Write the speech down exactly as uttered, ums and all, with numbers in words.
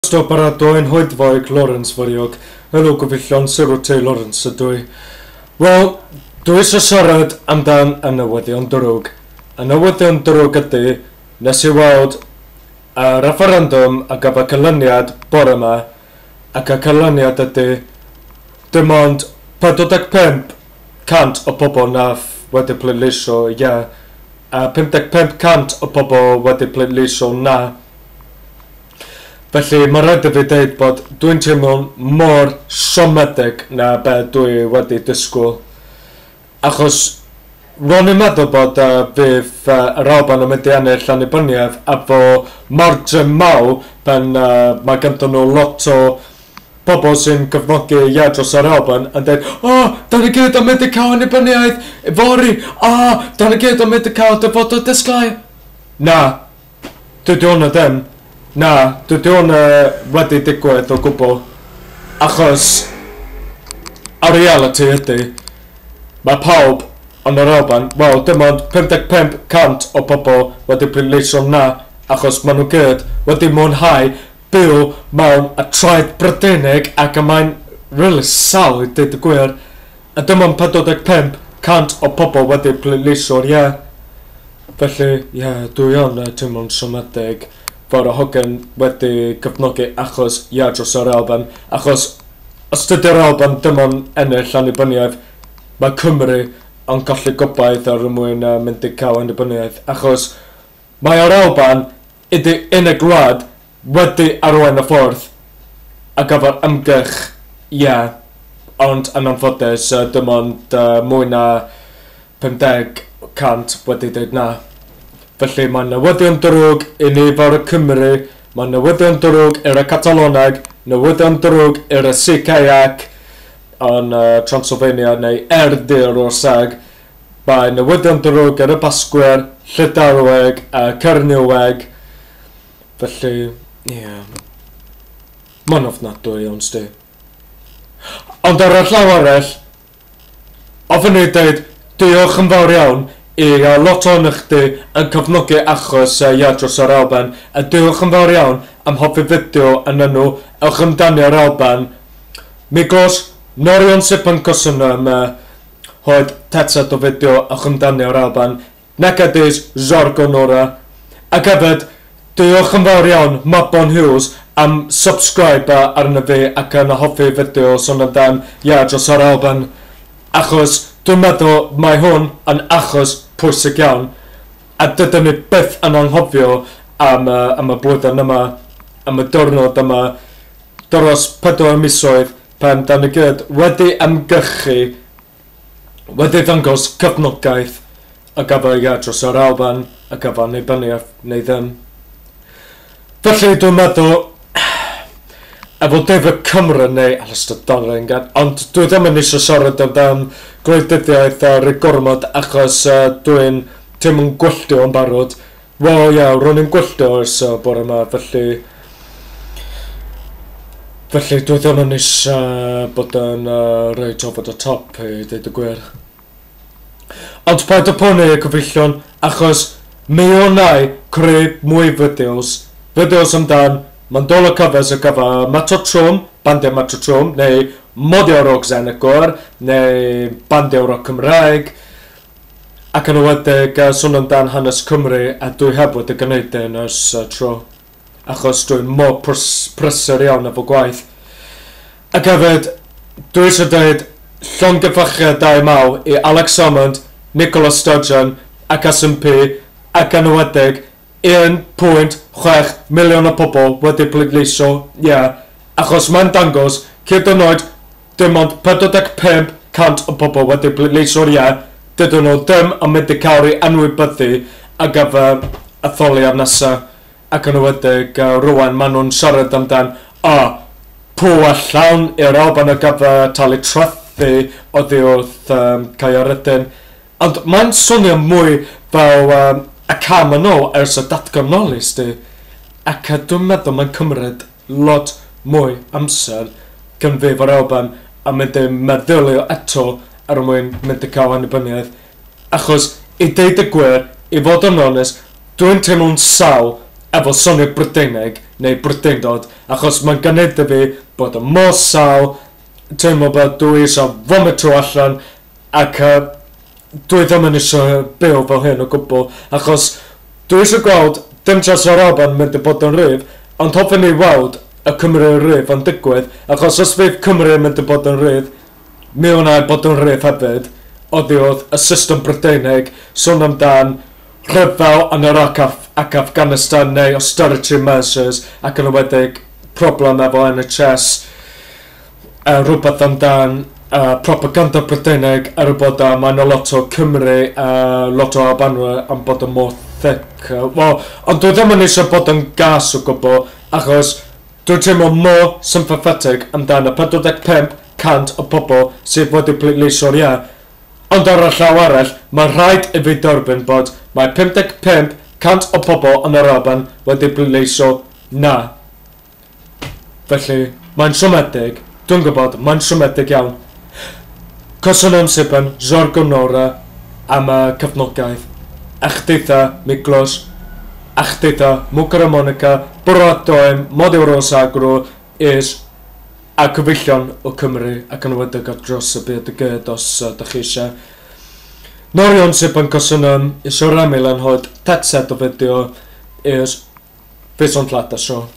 Paratoi hoedfaig Lawrence foriog. Helo gyfeillion, Sir T. Lawrence ydw i. Wel, dwi eisiau siarad amdan y newyddion drwg. Y newyddion drwg ydy, nes i weld y referendum a gafodd canlyniad bore yma, ac y canlyniad ydy dim ond pedwar deg pump cant o bobl nath wedi pleidleisio ie, a pum deg pump cant o bobl wedi pleidleisio na. Felly mae rhaid i fi dweud bod dwi'n teimlo'n mor siomedig na be dwi wedi disgwyl. Achos ro'n i'n meddwl bod uh, fydd uh, yr Alban yn mynd i ennill annibyniaeth efo margin mawr pan uh, mae ganddyn nhw lot o pobl sy'n cefnogi ie dros yr Alban yn dweud, o, oh, da ni gyd yn mynd i cael annibyniaeth fory, o, oh, da ni gyd yn mynd i cael dyfodol disglair. Na, dydy hwnna ddim. Na, dydy hwnna wedi digwydd o gwbl. Achos, y reality ydy, mae pawb yn yr Alban, wel, dim ond pum deg pump cant o pobl wedi pleidleisio na, achos maen nhw gyd wedi mwynhau byw mewn y traed Brydeinig, ac y mae'n really sal i dweud y gwir. A dim ond pedwar deg pump cant o pobl wedi pleidleisio'r ie. Felly, ie, yeah, dwi yn teimlo'n siomedig fod y hogan wedi cefnogi achos ie dros yr Alban. Achos os dydy'r Alban dim ond ennill annibyniaeth, mae Cymru yn colli gobaith ar y mwyn uh, mynd i cael annibyniaeth. Achos mae yr Alban ydy unig gwlad wedi arwain y ffordd a gafodd ymgyrch ie, yeah, ond yn anffodus uh, dim ond uh, mwy na pum deg cant wedi dweud na. Felly mae newyddion drwg i ni fel y Cymru, mae newyddion drwg i'r Cataloneg, newyddion drwg i'r C K A C yn uh, Transylvania neu Erdir o'r Seg, mae newyddion drwg i'r Basgwyr, Llydaweg a Cernyweg. Felly, ie, yeah. Mae'n ofnadwy iawn, sti. Ond ar y llaw arall, ofyn i dweud diolch yn fawr iawn i uh, lot o'n chdi yn cefnogi achos uh, ie dros yr Alban, a diolch yn fawr iawn am hoffi fideo yn enw Ewch Amdani yr Alban. Miklos Norion Sipan Cosynum uh, hoed tetset o fideo Ewch Amdani yr Alban, Necadis Zorgo Nora, ac hefyd diolch yn fawr iawn Mabon Hughes am subscribe arno fi ac yn hoffi fideo sôn amdan ie dros yr Alban, achos dwi'n meddwl mae hwn yn achos pwysig iawn, a dydyn ni byth yn anghofio am, uh, am y blwyddyn yma, am y diwrnod yma, dros pedwar misoedd pan da ni gyd wedi ymgyrchu, wedi ddangos cefnogaeth a gafodd ie dros yr Alban, a gafodd annibyniaeth neu ddim. Felly dwi'n meddwl, efo David Cameron neu Alistair Darling, ond dwi ddim yn eisiau siarad amdan gwleidyddiaeth ar y gormod achos uh, dwi'n teimlo'n gwylltio yn barod. Wel ie, yeah, ro'n i'n gwylltio ers uh, bore yma, felly... Felly dwi ddim yn eisiau bod yn uh, reit over the top i dweud y gwir. Ond paid â poeni cyfeillion, achos mi wnai creu mwy fideos. Fideos amdan Mandola covers y gyfer Mato Trwm, bandiau Mato Trwm, neu Modio Rock Zenigor, neu bandiau rock Cymraeg, ac yn enwedig uh, sôn amdan hanes Cymru, a dwi heb wedi gwneud hyn ers uh, tro, achos dwi'n mor prys prysur iawn efo gwaith. Ac hefyd, dwi eisiau dweud llongyfarchiadau mawr i Alex Salmond, Nicola Sturgeon ac S N P, ac yn enwedig un pwynt chwech miliwn o pobl wedi pleidleisio, ie, yeah, achos mae'n dangos, hyd yn oed, dim ond pedwar deg pump cant o pobl wedi pleidleisio, ie, yeah, dydyn nhw ddim yn mynd i cael ei anwybyddu ar gyfer etholiad nesaf, ac yn enwedig uh, rŵan maen nhw'n siarad amdan, o, oh, pŵer llawn i'r Alban ar gyfer talu trethu oddi wrth um, Caeredin. Ond mae'n swnio mwy fel um, y cam yn ôl ers y datganoli, sti. Ac dwi'n meddwl mae'n cymryd lot mwy amser cyn fi fo'r Alban a mynd i meddylio eto er mwyn mynd i cael annibyniaeth. Achos, i deud y gwir, i fod yn onest, dwi'n teimlo'n sal efo soniad Brydeinig neu Brydeindod, achos mae'n gwneud i fi bod yn mor sâl, teimlo bod dwi eisiau vomito allan, ac uh, dwi ddim yn eisiau byw fel hyn o gwbl, achos dwi eisiau gweld dim jyst yr Alban mynd i bod yn rhydd, ond hoffwn i weld y Cymru rydd yn digwydd, achos os fydd Cymru yn mynd i bod yn rhydd, mi wna i bod yn rhydd hefyd, oddi wrth y system Brydeinig, sôn amdan rhyfel yn Iraq ac Afghanistan neu austerity measures ac yn enwedig problem efo N H S, uh, rhywbeth amdan uh, propaganda Brydeinig er bod uh, mae yna lot o Cymru, uh, lot o Albanwyr am bod yn mor thick. Uh, well, ond dwi ddim yn eisiau bod yn gas o gwbl, achos dwi'n teimlo mor sympathetic amdan y pedwar deg pump cant o pobl sydd wedi pleidleisio'r ie. Ond ar y llaw arall, mae rhaid i fi derbyn bod mae pum deg pump cant o pobl yn yr Alban wedi pleidleisio na. Felly, mae'n siomedig, dwi'n gwybod, mae'n siomedig iawn. Köszönöm szépen Zsargonóra am y cefnogaeth. Achditha Miklos, Achditha Mukara Monica, Boratoim, Modiorosagro, is a cyfeillion o Cymru ac yn enwedig ar dros y byd y gyd os uh, dach chi eisiau. Nagyon szépen köszönöm, és remélem, hogy tetszett a videó, és viszontlátásra.